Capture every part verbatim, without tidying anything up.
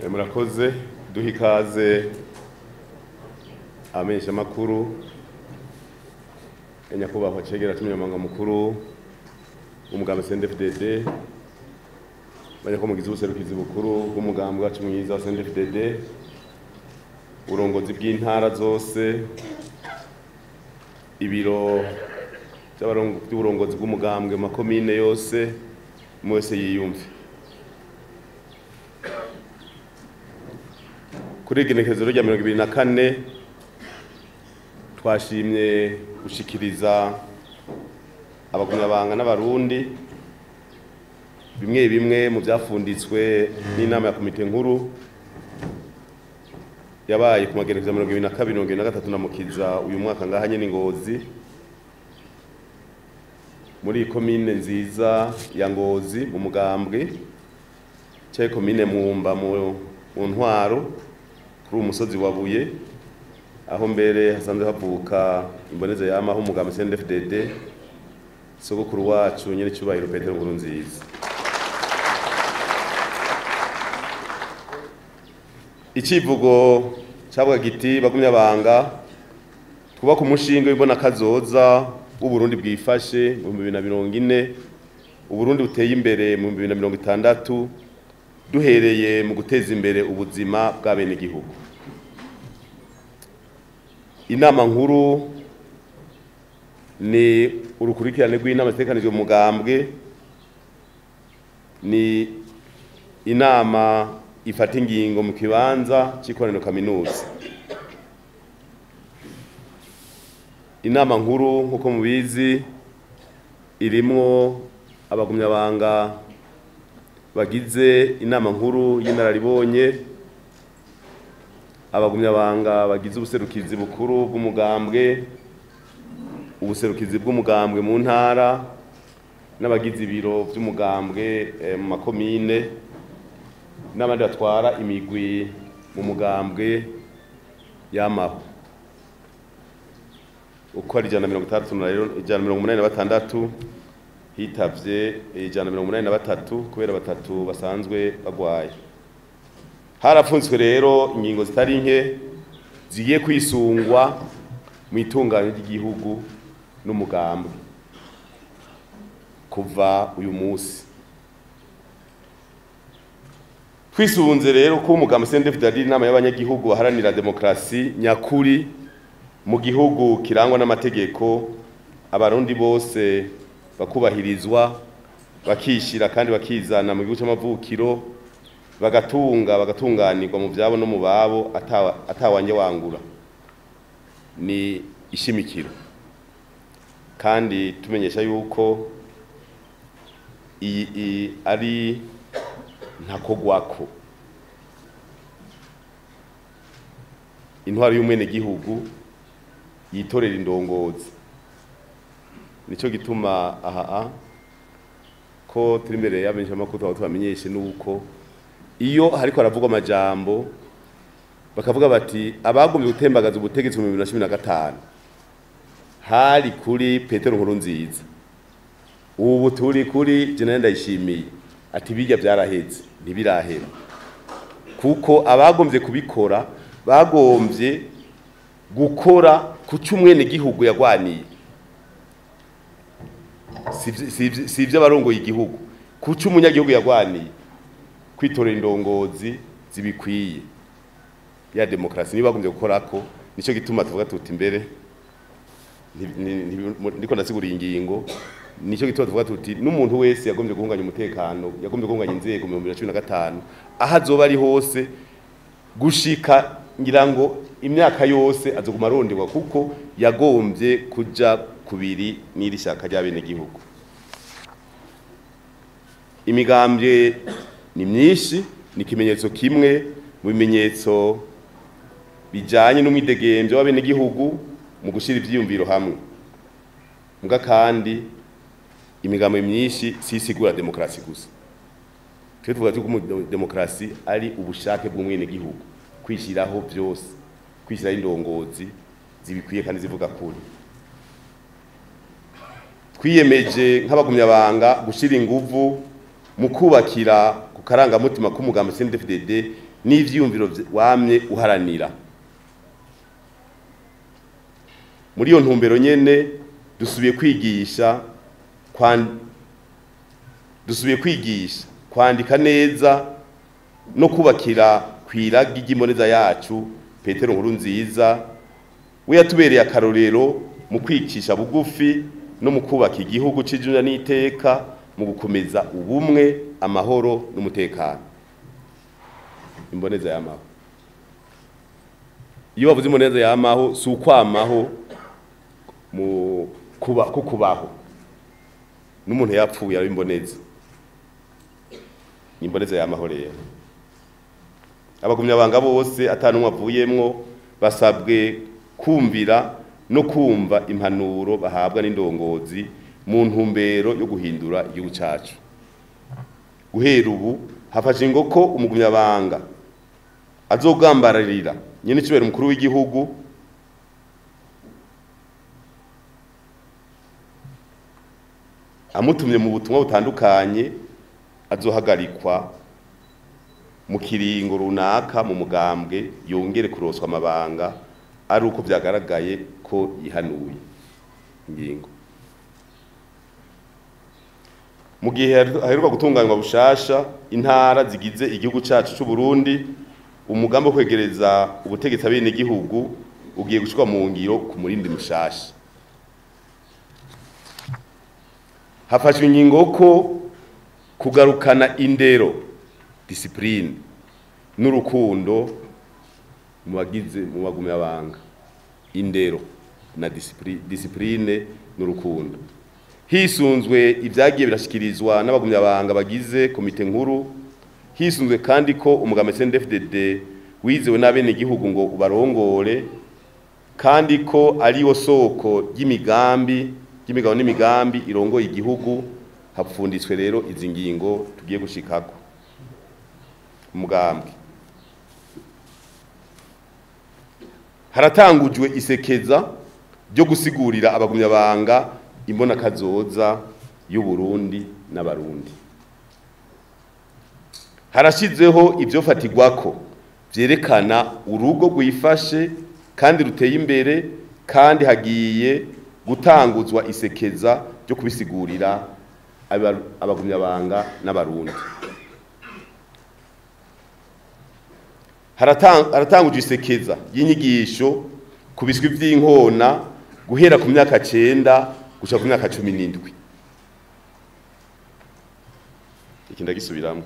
Murakoze. Duha ikaze abamenyeshamakuru, nyakubahwa cegera c'umunyamabanga mukuru w'umugambi C N D D-F D D, banyakomugizi w'ubuserukizi bukuru bw'umugambi wacu mwiza wa C N D D-F D D, uburongozi bw'intara zose, ibiro by'uburongozi bw'umugambwe mu makomine yose, umwe wese yiyumve. Kuri igenekerezo rya mirongo ibiri na kane, twashimye gushikiriza abagumyabanga n'Abarundi bimwe bimwe mu byafunditswe n'inama ya komite nkuru yabaye ku magenekerezo ya mirongo ibiri na kabiri, mirongo ibiri na gatatu na Mukiza uyu mwaka, ngaha nyene i Ngozi, muri komine nziza ya Ngozi mu mugambwe, cyaye komine Mwumba mu mu ntwaro, kuri uwo musozi wa Buye, aho mbere hasanzwe havuka imboneza yamaho umugambi C N D D-F D D, sogokuru wacu nyene cyubahiro Petero Nkurunziza. Icivugo cavuga giti: "Bagumyabanga, twubaka umushinge w'imbona kazoza w'Uburundi bwifashe mu bihumbi bibiri na mirongo ine, Uburundi buteye imbere mu bihumbi bibiri na mirongo itandatu, duhereye mu guteza imbere ubuzima bw'abenegihugu." Inama nkuru ni urukurikirane rw'inama zitegekanijwe mu mugambwe, ni inama ifata ingingo mu kibanza c'ikoraniro kaminuza. Inama nkuru, nk'uko mubizi, irimwo abagumyabanga bagize inama nkuru y'inararibonye, abagumyabanga bagize ubuserukizi bukuru bw'umugambwe, ubuserukizi bw'umugambwe mu ntara, n'abagize ibiro vy'umugambwe eh, mu makomine, n'abandi batwara imigwi mu mugambwe yamaho. Uko ari ijana na mirongo itandatu na rero ijana na mirongo umunani na batandatu, hitavye ijana na mirongo umunani na batatu kubera batatu basanzwe bagwaye. Harapfunzwe rero ingingo zitari nke zigiye kwisungwa mu itunganywa ry'igihugu n'umugambwe kuva uyu munsi. Twisunze rero ko umugambi C N D D-F D D, inama y'abanyagihugu baharanira demokarasi nyakuri mu gihugu kirangwa n'amategeko, Abarundi bose bakubahirizwa, bakishira kandi bakizana mu gihugu c'amavukiro, bagatunga bagatunganirwa mu vyabo no mu babo atawanje wangura, ni ishimikiro. Kandi tumenyesha yuko iyi ari ntakogwako intwaro y'umwenegihugu yitorera indongozi. Nico gituma aha ko turi imbere y'abamenyeshamakuru twaba tubamenyeshe nuko iyo hariko haravugwa amajambo, bakavuga bati abagombye gutembagaza ubutegetsi mu bibiri na cumi na gatanu hari kuri Petero Nkurunziza, ubu turi kuri General Ndayishimiye, ati bijya byaraheze. Ntibirahera, kuko abagombye kubikora bagombye gukora ku cy'umwene gihugu yagwaniye, si ibyo abarongoye igihugu, ku cy'umunyagihugu yagwaniye, kwitorera indongozi zibikwiye, ya demokarasi niba bagombye gukora ko. Nicyo gituma tuvuga tuti imbere ndiko ndasigura ingingo, nicyo gituma tuvuga tuti n'umuntu wese yagombye guhunganya umutekano, yagombye guhunganya inzego mu bihumbi bibiri na cumi na gatanu, aho azoba ari hose gushika ngira ngo imyaka yose, azoguma aronderwa, kuko yagombye kuja kubiri n'iri shyaka ry'abenegihugu. Imigambwe ni myinshi, ni ikimenyetso kimwe mu bimenyetso bijanye n'umwidegemvyo w'abenegihugu mu gushira ivyiyumviro hamwe. Muga kandi imigambo myinshi sisigura demokarasi gusa. Twe tuvuga ko demokarasi ari ubushake bw'umwenegihugu kwishiraho byose, kwishiraho indongozi zibikwiye kandi zivuga kuri. Twiyemeje nk'abagumyabanga gushira inguvu mu kubakira ku karangamutima k'umugambi C N D D-F D D. n'ivyiyumviro wamye uharanira. Muri iyo ntumbero nyene dusubiye kwigisha dusubiye kwigisha kwandika neza no kubakira kwiragi ry'imboneza yacu Petero Nkurunziza, we yatubereye akarorero mu kwicisha bugufi no mu kubaka igihugu c'ijuna n'iteka, mu gukomeza ubumwe, amahoro n'umutekano. Imboneza y'amaho, iyo bavuze imboneza y'amaho si ukwamaho mu kuba ko kubaho n'umuntu yapfuye ari imboneza, imboneza y'amaho. Rero abagumyabanga bose atanumwe avuyemwo basabwe kumvira no kumva impanuro bahabwa n'indongozi mu ntumbero yo guhindura igihugu cacu. Guhera ubu hafashe ingo ko umugumyabanga azogambararira nyene cibera umukuru w'igihugu amutumye mu butumwa butandukanye azohagarikwa mu kiringo runaka mu mugambwe, yongere kuroswa amabanga ari uko vyagaragaye ko yihanuye ingingo. Mu gihe haheruka gutunganywa bushasha intara zigize igihugu cacu c'u Burundi, umugambi wo kwegereza ubutegetsi abene igihugu ugiye gushirwa mu ngiro ku murindi mushasha. Hafashwe ingingo ko kugarukana indero, discipline n'urukundo mu bagize mu bagumyabanga, indero na discipline n'urukundo, hisunzwe ibyagiye birashikirizwa n'abagumyabanga bagize komite nkuru. Hisunzwe kandi ko umugambi C N D F D D wizewe n'abene igihugu ngo ubarongore, kandi ko ari wo soko ry'imigambi ry'imigabo n'imigambi irongoye igihugu. Hapfunditswe rero izi ngingo tugiye gushikako. Umugambwe haratangujwe isekeza ryo gusigurira abagumyabanga imbona kazoza y'u Burundi n'abarundi. Harashizeho ivyo fatigwako vyerekana urugo rwifashe kandi ruteye imbere, kandi hagiye gutanguzwa isekeza ryo kubisigurira abagumyabanga n'abarundi. Haratangujwe isekeza y'inyigisho ku biswi vy'inkona guhera ku myaka cenda gushika ku myaka cumi n'indwi. Iki ndagisubiramwo.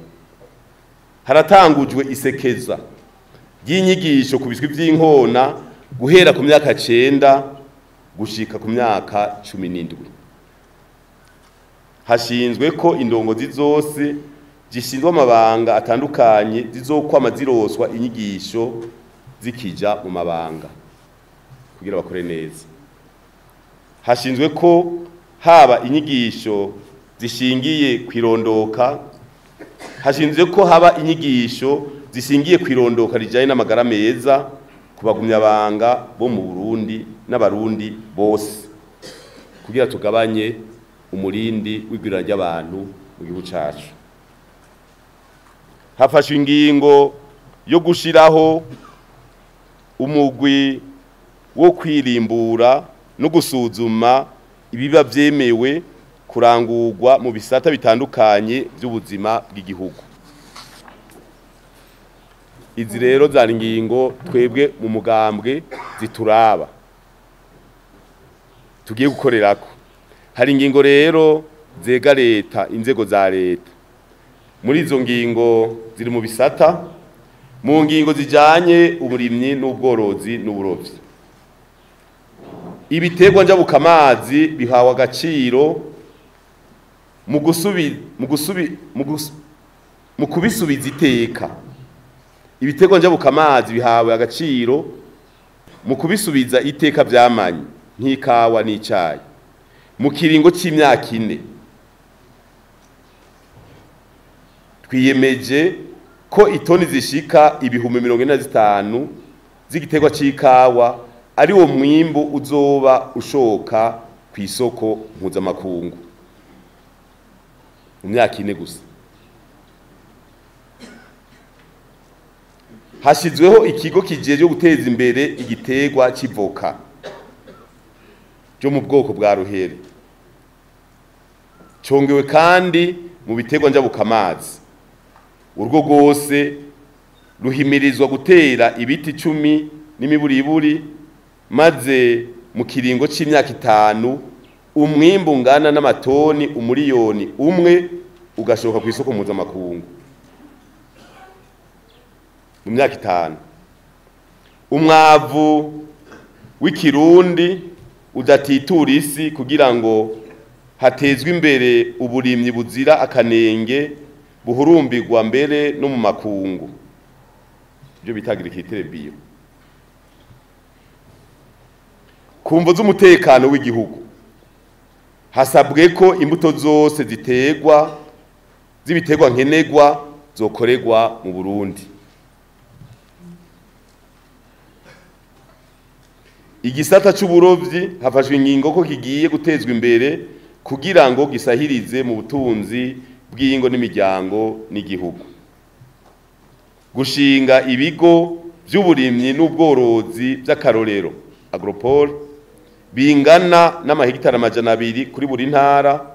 Haratangujwe isekeza ry'inyigisho ku biswi vy'inkona guhera ku myaka cenda gushika ku myaka cumi n'indwi. Hashinzwe ko indongozi zose zishinzwe amabanga atandukanye zizokwama ziroswa inyigisho zikija mu mabanga kugira bakore neza. Hashinzwe ko haba inyigisho zishingiye kwirondoka, hashinzwe ko haba inyigisho zishingiye kwirondoka rijanye n'amagara meza ku bagumyabanga bo mu Burundi n'abarundi bose, kugira tugabanye umurindi w'igwirana ry'abantu mu gihugu cacu. Hafashwe ingingo yo gushiraho umugwi wo kwirimbura no gusuzuma ibiba vyemewe kurangurwa mu bisata bitandukanye by'ubuzima bw'igihugu. Izi rero zari ingingo twebwe mu mugambwe zituraba tugiye gukorerako. Hari ingingo rero zega leta, inzego za leta. Muri izo ngingo ziri mu bisata, mu ngingo zijanye uburimyi n'ubworozi n'uburovyi. Ibiterwa njabukamazi bihawe agaciro mu gusubi mu gusubi mu kubisubiza iteka. Ibiterwa njabukamazi bihawe agaciro mu kubisubiza iteka vyamanye nk'ikawa n'icayi mu kiringo c'imyaka ine. Twiyemeje ko itoni zishika ibihumbi mirongo ine na zitanu z'igiterwa c'ikawa ari wo mwimbu uzoba ushoka ku isoko mpuzamakungu mu myaka ine gusa. Hashyizweho ikigo kijejwe guteza imbere igiterwa c'ivoka cyo mu bwoko bwa ruhere, congewe kandi mu biterwa njabukamazi. Urugo rwose ruhimirizwa gutera ibiti cumi n'imiburiburi, maze mu kiringo c'imyaka itanu umwimbu ungana n'amatoni umuriyoni umwe ugashoka ku isoko mpuzamakungu mu myaka itanu. Umwavu w'ikirundi udatitura isi kugira ngo hatezwe imbere uburimyi buzira akanenge buhurumbirwa mbere no mu makungu, ibyo bita agriculture bio. Ku mvo z'umutekano w'igihugu hasabwe ko imbuto zose ziterwa z'ibiterwa nkenerwa zokorerwa mu Burundi. Igisata c'uburovyi hafashwe ingingo ko kigiye gutezwa imbere kugira ngo gisahirize mu butunzi bw'ingo n'imiryango n'igihugu. Gushinga ibigo by'uburimyi n'ubworozi by'akarorero agropole bingana n'amahegitari amajana abiri kuri buri ntara,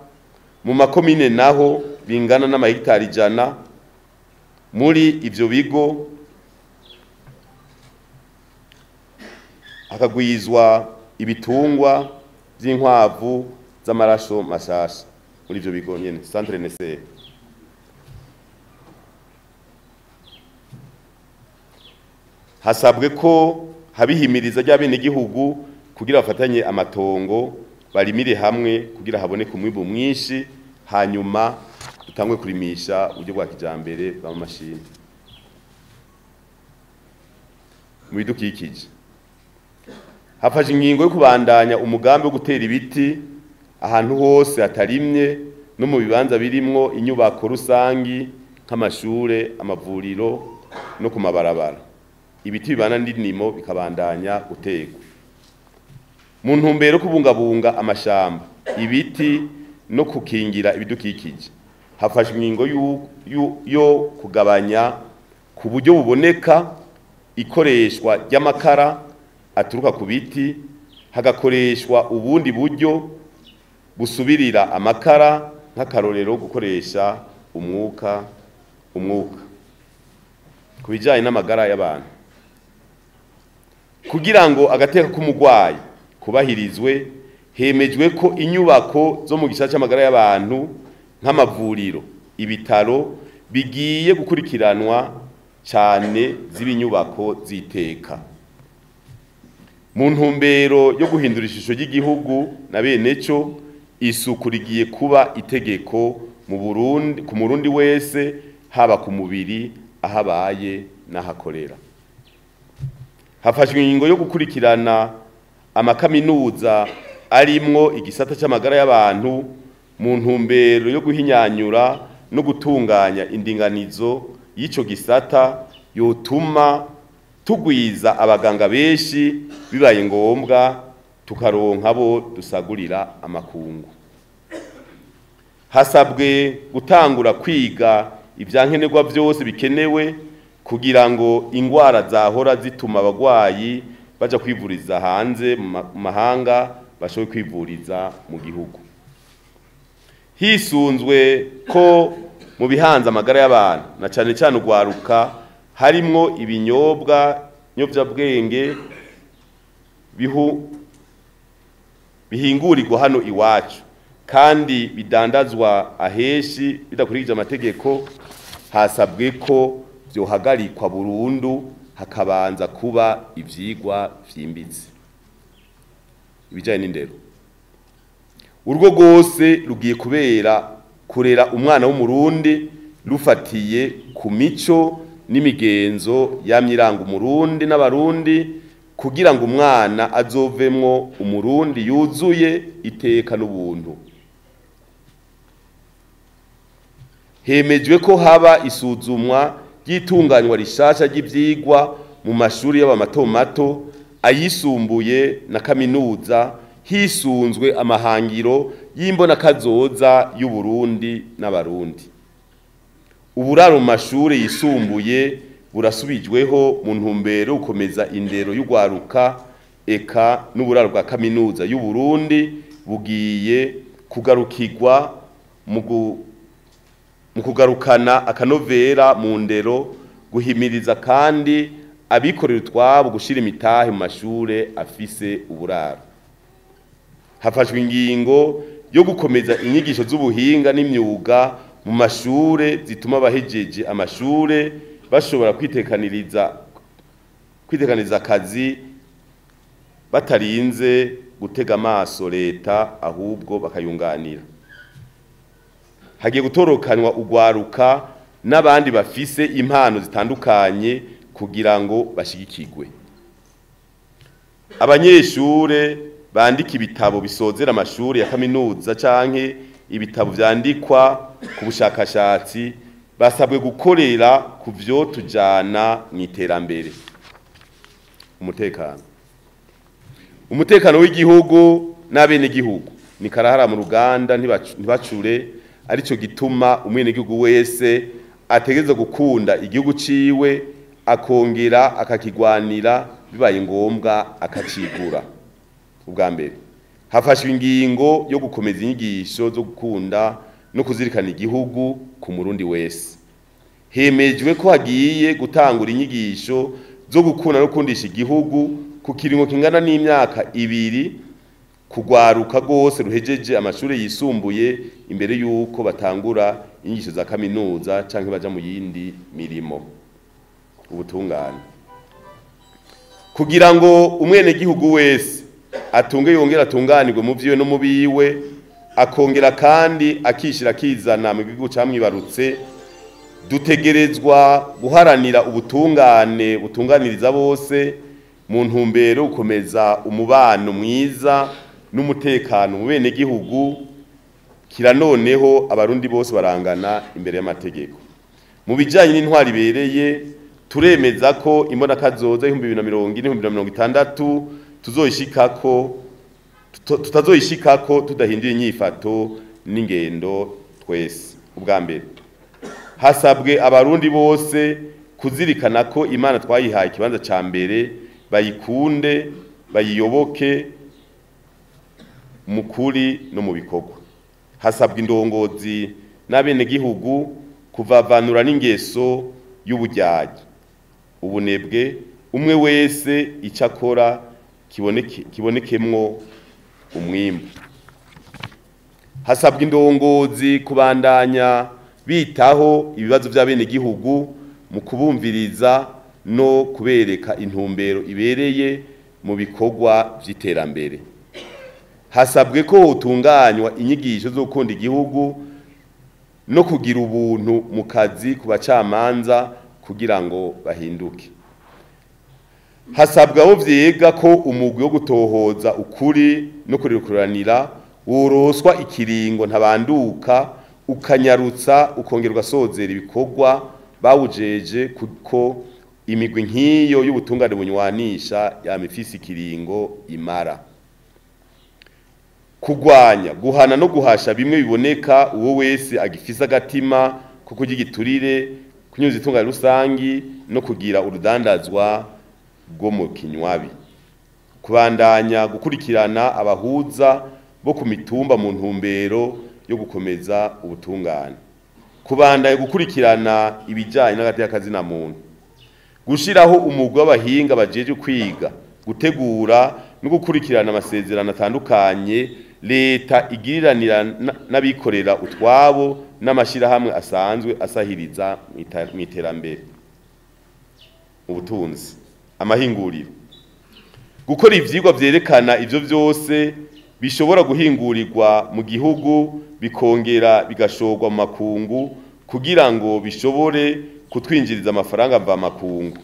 mu makomine naho bingana n'amahegitari ijana. Muri ivyo bigo hakagwizwa ibitungwa by'inkwavu z'amaraso mashasha muri ivyo bigo nyene centre N C. Hasabwe ko habihimiriza ry'abenegihugu kugira bafatanye amatongo barimire hamwe kugira haboneke umwimbu mwinshi, hanyuma dutangwe kurimisha uburyo bwa kijambere bw'amamashini. Mu bidukikije hafashe ingingo yo kubandanya umugambi wo gutera ibiti ahantu hose hatarimye no mu bibanza birimwo inyubako rusangi nk'amashure, amavuriro no ku mabarabara. Ibiti bibana n'indimo bikabandanya guterwa. Mu ntumbero yo kubungabunga amashamba, ibiti no kukingira ibidukikije, hafashwe ingingo yo kugabanya ku buryo buboneka ikoreshwa ry'amakara aturuka ku biti, hagakoreshwa ubundi buryo busubirira amakara, nk'akarorero gukoresha umwuka umwuka ku bijyanye n'amagara y'abantu. Kugira ngo agateka k'umurwayi kubahirizwe, hemejwe ko inyubako zo mu gisata cy'amagara y'abantu nk'amavuriro, ibitaro bigiye gukurikiranwa cyane z'ibinyubako ziteka. Mu ntumbero yo guhindura ishusho ry'igihugu na bene cyo, isuku rigiye kuba itegeko mu Burundi ku murundi wese, haba ku mubiri, ahabaye n'ahakorera. Hafashwe ingingo yo gukurikirana amakaminuza arimwo igisata cy'amagara y'abantu mu ntumbero yo guhinyanyura no gutunganya indinganizo y'ico gisata yotuma tugwiza abaganga benshi, bibaye ngombwa tukaronka abo dusagurira amakungu. Hasabwe gutangura kwiga ivyankenerwa vyose bikenewe kugira ngo ingwara zahora zituma abagwayi baja kwivuriza hanze mu mahanga bashobore kwivuriza mu gihugu. Hisunzwe ko mu bihanze amagara y'abantu na cane cane ugwaruka harimwo ibinyobwa nyovyabwenge bihu bihingurirwa hano iwacu kandi bidandazwa aheshi bidakurikije amategeko, hasabwe ko vyohagarikwa burundu hakabanza kuba ivyigwa vyimbitse. Ibijanye n'indero, urugo rwose rugiye kubera kurera umwana w'umurundi rufatiye ku mico n'imigenzo yamyiranga umurundi n'abarundi, kugira ngo umwana azovemwo umurundi yuzuye iteka n'ubuntu. Hemejwe ko haba isuzumwa ry'itunganywa rishasha ry'ivyigwa mu mashuri y'abamato mato, ayisumbuye na kaminuza, hisunzwe amahangiro y'imbonakazoza y'Uburundi n'abarundi. Uburaro mu mashuri yisumbuye burasubijweho mu ntumbero gukomeza indero y'ugwaruka eka n'uburaro bwa kaminuza y'u Burundi bugiye kugarukirwa mu kugarukana akanovera mu ndero, guhimiriza kandi abikorera utwabo gushira imitahe mu mashure afise uburaro. Hafashwe ingingo yo gukomeza inyigisho z'ubuhinga n'imyuga mu mashure zituma abahejeje amashure bashobora kwitekaniriza kwitekaniriza akazi batarinze gutega amaso leta, ahubwo bakayunganira. Hagiye gutorokanywa ugwaruka n'abandi bafise impano zitandukanye kugira ngo bashigikirwe. Abanyeshure bandika ibitabo bisozera amashuri ya kaminuza canke ibitabo vyandikwa ku bushakashatsi basabwe gukorera ku vyo tujana mu iterambere. Umutekano umutekano w'igihugu n'abenegihugu ni karahara mu ruganda, ntibacure. Arico gituma umwenegihugu wese ategerezwa gukunda igihugu ciwe, akongera akakigwanira, bibaye ngombwa akacigura. Ubwa mbere hafashwe ingingo yo gukomeza inyigisho zo gukunda no kuzirikana igihugu ku murundi wese. Hemejwe ko hagiye gutangura inyigisho zo gukunda no kundisha igihugu ku kiringo kingana n'imyaka ibiri kugwaruka gose ruhejeje amashuri yisumbuye imbere yuko batangura inyigisho za kaminuza canke baja mu yindi mirimo. Ubutungane kugira ngo umwenegihugu wese atunge yongera atunganirwe mu vyiwe no mu biwe, akongera kandi akishira akizana mu gihugu camwibarutse, dutegerezwa guharanira ubutungane butunganiriza bose mu ntumbero gukomeza umubano mwiza n'umutekano mu benegihugu. Kira noneho abarundi bose barangana imbere y'amategeko. Mu bijanye n'intwari ibereye, turemeza ko imbonakazoza ibihumbi bibiri na mirongo ine ibihumbi bibiri na mirongo itandatu tuzoyishikako tutazoyishikako tudahinduye inyifato n'ingendo twese. Ubwa mbere hasabwe abarundi bose kuzirikana ko Imana twayihaye ikibanza ca mbere, bayikunde bayiyoboke mu kuri no mu bikorwa. Hasabwa indongozi n'abenegihugu kuvavanura n'ingeso y'ubujyaji, ubunebwe, umwe wese icyo akora kiboneke kibonekemwo umwimbu. Hasabwa indongozi kubandanya bitaho ibibazo by'abenegihugu mu kubumviriza no kubereka intumbero ibereye mu bikorwa by'iterambere. Hasabwe ko hotunganywa inyigisho zo gukunda igihugu no kugira ubuntu mu kazi ku bacamanza kugira ngo bahinduke. Hasabwa abo vyiga ko umugwi wo gutohoza ukuri no kurikuranira woroswa ikiringo ntabanduka, ukanyarutsa ukongera ugasozera ibikorwa bawujeje, kuko imigwi nk'iyo y'ubutungane bunywanisha yamifise ikiringo imara. Kugwanya, guhana no guhasha bimwe biboneka uwo wese agifise agatima ko kurya igiturire, kunyuza itunga rusangi no kugira urudandazwa rwo mu kinywabi. Kubandanya gukurikirana abahuza bo ku mitumba mu ntumbero yo gukomeza ubutungane. Kubandanya gukurikirana ibijanye n'agateka kazina muntu. Gushiraho umugwi w'abahinga bajeje kwiga, gutegura no gukurikirana amasezerano atandukanye leta igiriranira n'abikorera utwabo n'amashirahamwe asanzwe asahiriza mu iterambere. Ubutunzi, amahinguriro, gukora ivyigwa vyerekana ivyo vyose bishobora guhingurirwa mu gihugu bikongera bigashorwa mu makungu kugira ngo bishobore kutwinjiriza amafaranga mva makungu.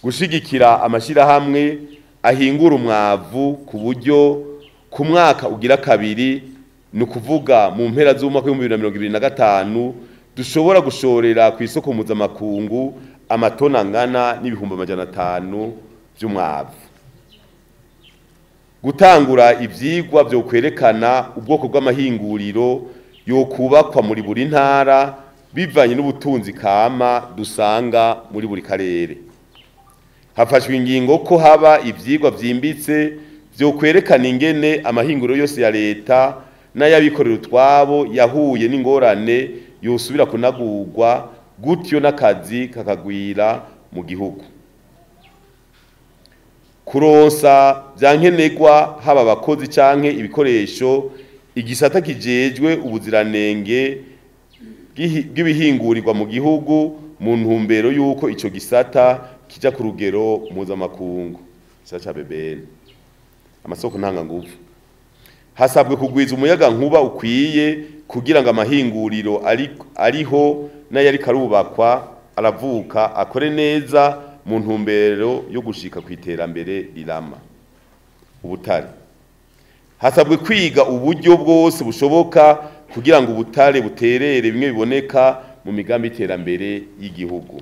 Gushigikira amashirahamwe ahingura umwavu ku buryo ku mwaka ugira kabiri, ni ukuvuga mu mpera z'umwaka w'ibihumbi bibiri na mirongo ibiri na gatanu, dushobora gushorera ku isoko mpuzamakungu amatona angana n'ibihumbi amajana atanu vy'umwavu. Gutangura ivyigwa vyo kwerekana ubwoko bw'amahinguriro yokubakwa muri buri ntara bivanye n'ubutunzi kama dusanga muri buri karere. Hafashwe ingingo ko haba ivyigwa vyimbitse vyo kwerekana ingene amahinguro yose ya leta n'ayabikorera utwabo yahuye n'ingorane yosubira kunagurwa, gutyo n'akazi kakagwira mu gihugu. Kuronsa vyankenerwa haba abakozi canke ibikoresho, igisata kijejwe ubuziranenge bw'ibihingurirwa mu gihugu mu ntumbero yuko ico gisata kija ku rugero mpuzamakungu. Gisata ca B B N. Amasoko ntanganguvu. Hasabwe kugwiza umuyaga nkuba ukwiye kugira ngo amahinguriro ariho n'ayari karubakwa aravuka akore neza mu ntumbero yo gushika ku iterambere rirama. Ubutare. Hasabwe kwiga uburyo bwose bushoboka kugira ngo ubutare buterere bimwe biboneka mu migambi y'iterambere y'igihugu.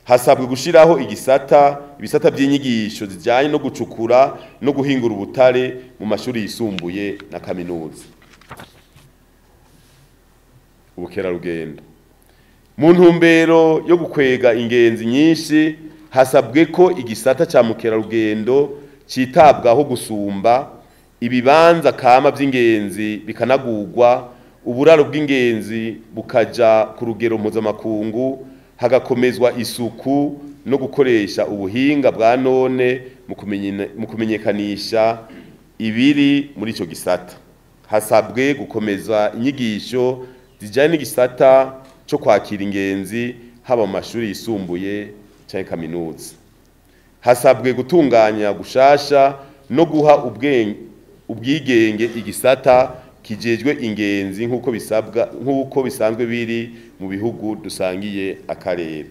Hasabwe gushiraho igisata ibisata by'inyigisho zijanye no gucukura no guhingura ubutare mu mashuri yisumbuye na kaminuza. Ubukerarugendo. Mu ntumbero yo gukwega ingenzi nyinshi, hasabwe ko igisata ca mukerarugendo citabwaho gusumba, ibibanza kama by'ingenzi bikanagurwa, uburaro bw'ingenzi bukaja ku rugero mpuzamakungu, hagakomezwa isuku no gukoresha ubuhinga bwa none mu kumenyekanisha ibiri muri ico gisata. Hasabwe gukomeza inyigisho zijanye n'igisata cyo kwakira ingenzi haba mu mashuri yisumbuye canke kaminuza. Hasabwe gutunganya gushasha no guha ubwigenge igisata kijejwe ingenzi nkuko bisabwa nkuko bisanzwe biri mu bihugu dusangiye akarere.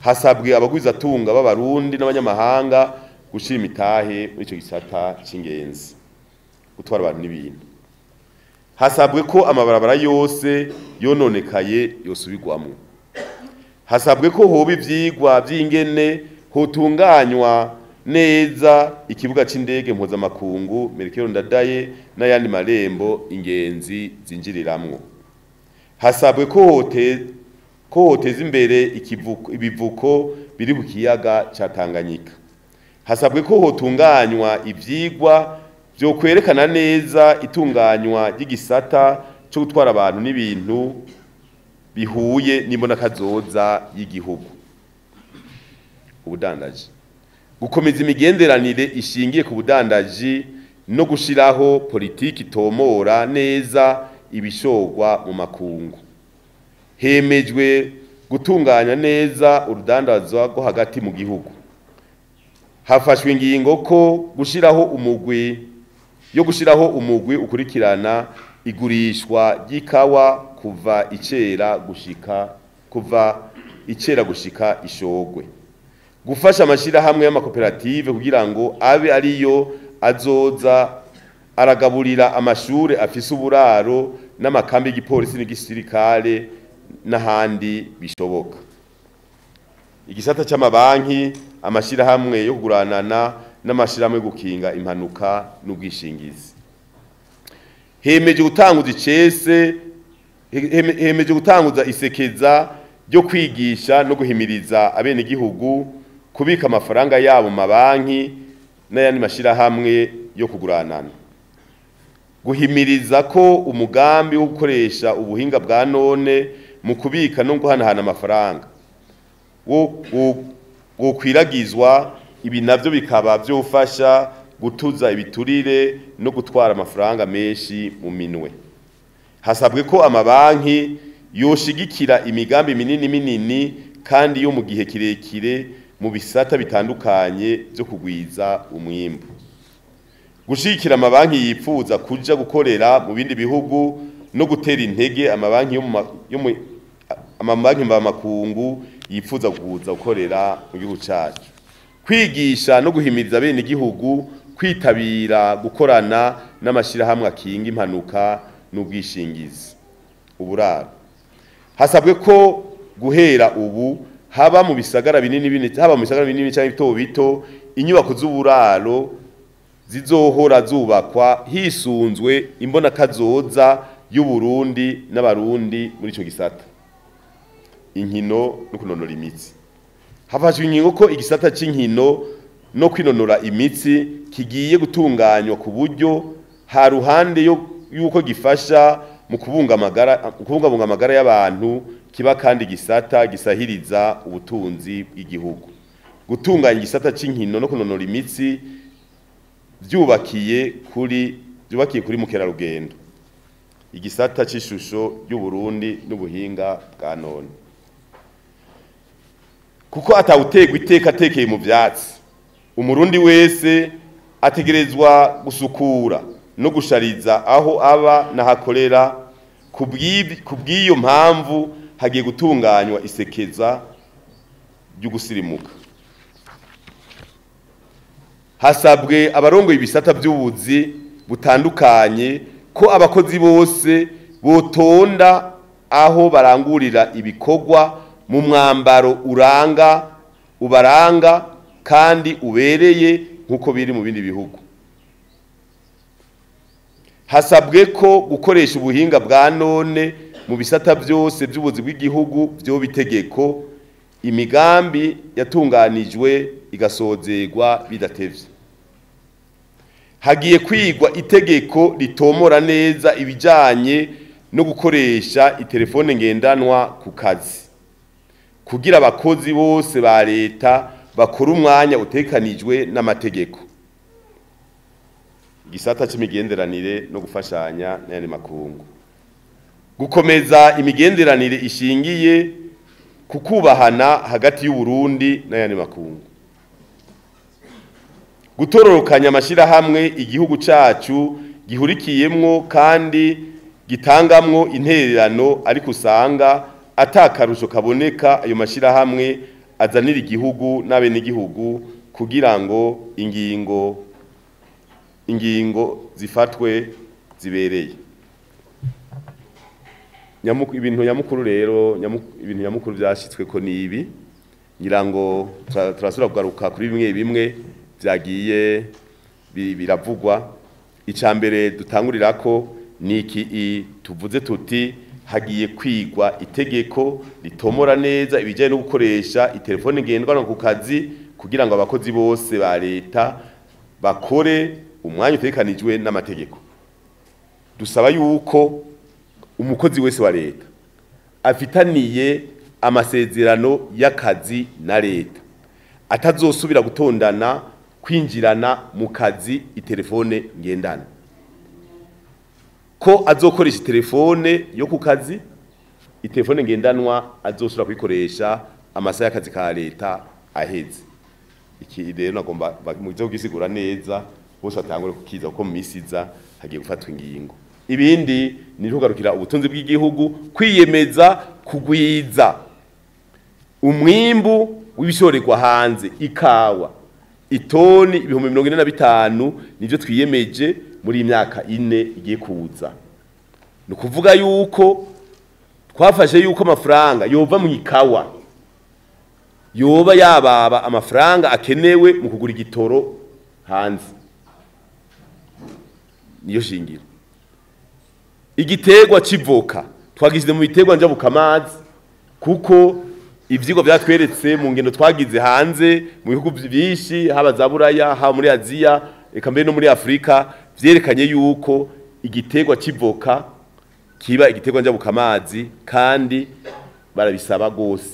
Hasabwe abagwizatunga b'abarundi n'abanyamahanga gushira imitahe muri ico gisata c'ingenzi, gutwara abantu n'ibintu. Hasabwe ko amabarabara yose yononekaye yosubirwamwo. Hasabwe ko hoba ivyigwa vy'ingene hotunganywa neza ikibuga c'indege mpuzamakungu Melchior Ndadaye n'ayandi marembo ingenzi zinjiriramwo. Hasabwe ko hote ko hoteza imbere ikivuko ibivuko biri ku kiyaga ca Tanganyika. Hasabwe ko hotunganywa ivyigwa vyo kwerekana neza itunganywa ry'igisata cyo gutwara abantu n'ibintu bihuye n'imbonakazoza y'igihugu. Ubudandaji. Gukomeza imigenderanire ishingiye ku budandaji no gushiraho politiki itomora neza ibishogwa mu makungu. Hemejwe gutunganya neza urudandazwa rwo hagati mu gihugu. Hafashwe ingingo ko gushiraho umugwi yo gushiraho umugwi ukurikirana igurishwa ry'ikawa kuva icera gushika kuva icera gushika ishogwe. Gufasha amashirahamwe y'amakoperative kugira ngo abe ariyo azoza aragaburira amashure afise uburaro n'amakambi y'igipolisi n'igisirikare n'ahandi bishoboka. Igisata c'amabanki, amashirahamwe yo kuguranana n'amashirahamwe yo gukinga impanuka n'ubwishingizi. Hemeje gutanguza icese hemeje gutanguza isekeza ryo kwigisha no guhimiriza abenegihugu kubika amafaranga yabo mu mabanki n'ayandi mashirahamwe yo kuguranana. Guhimiriza ko umugambi wo gukoresha ubuhinga bwa none mu kubika no guhanahana amafaranga wo wokwiragizwa, ibi navyo bikaba vyofasha gutuza ibiturire no gutwara amafaranga menshi mu minwe. Hasabwe ko amabanki yoshigikira imigambi minini minini kandi yo mu gihe kirekire mu bisata bitandukanye byo kugwiza umwimbu. Gushigikira amabanki yipfuza kuja gukorera mu bindi bihugu no gutera intege amabanki yo mu amabanki mvamakungu yipfuza kuza gukorera mu gihugu cacu. Kwigisha no guhimiriza bene igihugu kwitabira gukorana n'amashirahamwe akinga impanuka n'ubwishingizi. Uburaro. Hasabwe ko guhera ubu haba mu bisagara binini binini haba mu bisagara binini cyangwa bito bito inyubako z'uburaro zizohora zubakwa hisunzwe imbonakazoza y'u Burundi n'abarundi muri ico gisata. inkino no kunonora imitsi. Hafashwe ingingo ko igisata c'inkino no kwinonora imitsi kigiye gutunganywa ku buryo ha ruhande yuko gifasha mu kubunga amagara kubungabunga amagara y'abantu, kiba kandi gisata gisahiriza ubutunzi bw'igihugu. Gutunganya igisata c'inkino no kunonora imitsi byubakiye kuri byubakiye kuri mukerarugendo, igisata c'ishusho y'u Burundi n'ubuhinga bwa none. Kuko atawutegwa iteka atekeye mu vyatsi, umurundi wese ategerezwa gusukura no gushariza aho aba nahakorera. Kubw'iyo mpamvu hagiye gutunganywa isekeza ry'ugusirimuka. Hasabwe abarongoye ibisata by'ubuzi butandukanye ko abakozi bose botonda aho barangurira ibikorwa mu mwambaro uranga ubaranga kandi ubereye nkuko biri mu bindi bihugu. Hasabwe ko gukoresha ubuhinga bwa none mu bisata byose by'ubuzi bw'igihugu byo bitegeko, imigambi yatunganijwe igasozerwa bidatevye. Hagiye kwigwa itegeko ritomora neza ibijanye no gukoresha itelefone ngendanwa ku kazi, kugira abakozi bose ba leta bakora umwanya utekanijwe n'amategeko. Igisata c'imigenderanire no gufashanya n'ayandi makungu. Gukomeza imigenderanire ishingiye kukubahana hagati y'u Burundi n'ayandi makungu. Gutororokanya amashirahamwe igihugu cacu gihurikiyemwo kandi gitangamwo intererano, ariko usanga atakarusho kaboneka ayo mashirahamwe azanira igihugu n'abenegihugu kugira ngo ingingo ingingo zifatwe zibereye. Nyamuku ibintu nyamukuru rero ibintu nyamukuru byashitswe ko nibi, ngira ngo turasubira kugaruka kuri bimwe bimwe byagiye biravugwa. Icambere dutangurirako niki tuvuze tuti hagiye kwigwa itegeko ritomora neza ibijanye no gukoresha itelefone ngendanwa ku kazi, kugira ngo abakozi bose ba leta bakore umwanya utekanijwe n'amategeko. Dusaba yuko umukozi wese wa leta afitaniye amasezerano y'akazi na leta atazosubira gutondana kwinjirana mu kazi itelefone ngendanwa, ko azokoresha telefone yo ku kazi, itelefone ngendanwa azosubira kuyikoresha amasaha y'akazi ka leta aheze. Iki rero nagomba muzo gisigura neza bose batangure kukiza kuko mu misiza hagiye gufatwa ingingo. Ibindi ni kugarukira ubutunzi bw'igihugu, kwiyemeza kugwiza umwimbu w'ibishorerwa hanze, ikawa itoni ibihumbi mirongo ine na bitanu nivyo twiyemeje muri imyaka ine igiye kuza. Ni kuvuga yuko twafashe yuko amafaranga yova mu ikawa yoba yababa amafaranga akenewe mu kugura igitoro hanze, niyo shingiro. Igiterwa civoka twagize mu biterwa njabukamazi, kuko ivyigwa byatweretse mu ngendo twagize hanze mu bihugu byinshi, haba za Buraya, haba muri Aziya, eka mbere no muri Afrika, vyerekanye yuko igiterwa civoka kiba igiterwa njabukamazi kandi barabisaba gose.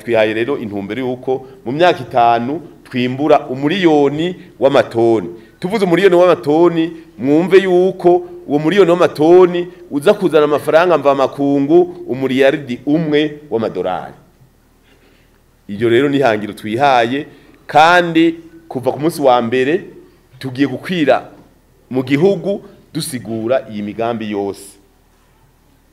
Twihaye rero intumbero yuko mu myaka itanu twimbura umuriyoni w'amatoni. Tuvuze umuriyoni w'amatoni, mwumve yuko uwo muriyoni w'amatoni uza kuzana amafaranga mva makungu umuriyaridi umwe w'amadolari. Iyo rero ni hangiro twihaye, kandi kuva ku munsi wa mbere tugiye gukwira mu gihugu dusigura iyi migambi yose.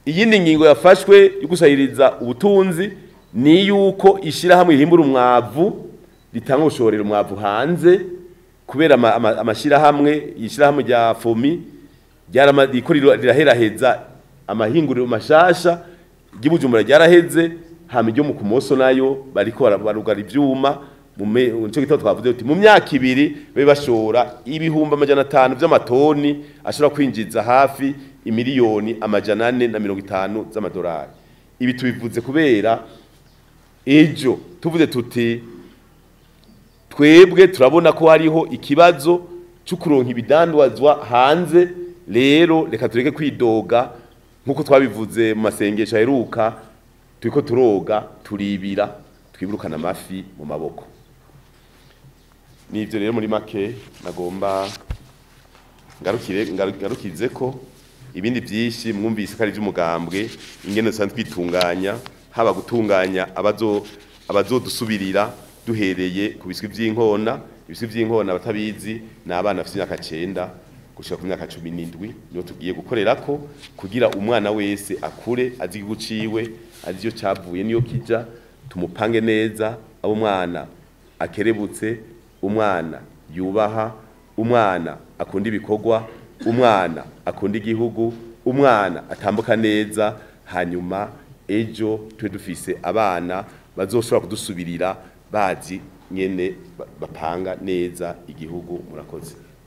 Iyindi ngingo yafashwe yo gusahiriza ubutunzi ni yuko ishirahamwe rihimbura umwavu ritanga ubushorero umwavu hanze, kubera amashirahamwe ishirahamwe rya Fomi ryariko riraheraheza amahinguriro mashasha ry'Ibujumbura ryaraheze, hama iryo mu Kumoso nayo bariko barugara ivyuma. Nico gitabo twavuze uti mu myaka ibiri babe bashora ibihumbi amajana atanu vy'amatoni ashobora kwinjiza hafi imiliyoni amajana ane na mirongo itanu z'amadolari. Ibi tubivuze kubera Ejo tuvuze tuti twebwe turabona ko hariho ikibazo cyo kuronka ibidandazwa hanze, rero reka tureke kwidoga nkuko twabivuze mu masengesho aheruka, turiko turoga turibira twibirukana amafi mu maboko. Nivyo rero muri make nagomba ngarukire ngarukize ko ibindi byinshi mwumvise ko ari by'umugambwe, ingene dusanzwe twitunganya, haba gutunganya abazo abazodusubirira duhereye ku biswi by'inkona. Ibiswi by'inkona batabizi ni abana bafite imyaka cenda gushika ku myaka cumi n'indwi, niyo tugiye gukorerako kugira umwana wese akure azi igihugu ciwe, azi iyo cavuye niyo kija, tumupange neza, abo umwana akerebutse, umwana yubaha, umwana akunda ibikorwa, umwana akunda igihugu, umwana atambuka neza, hanyuma ejo tube dufise abana bazoshobora kudusubirira bazi nyene bapanga neza igihugu. Murakoze.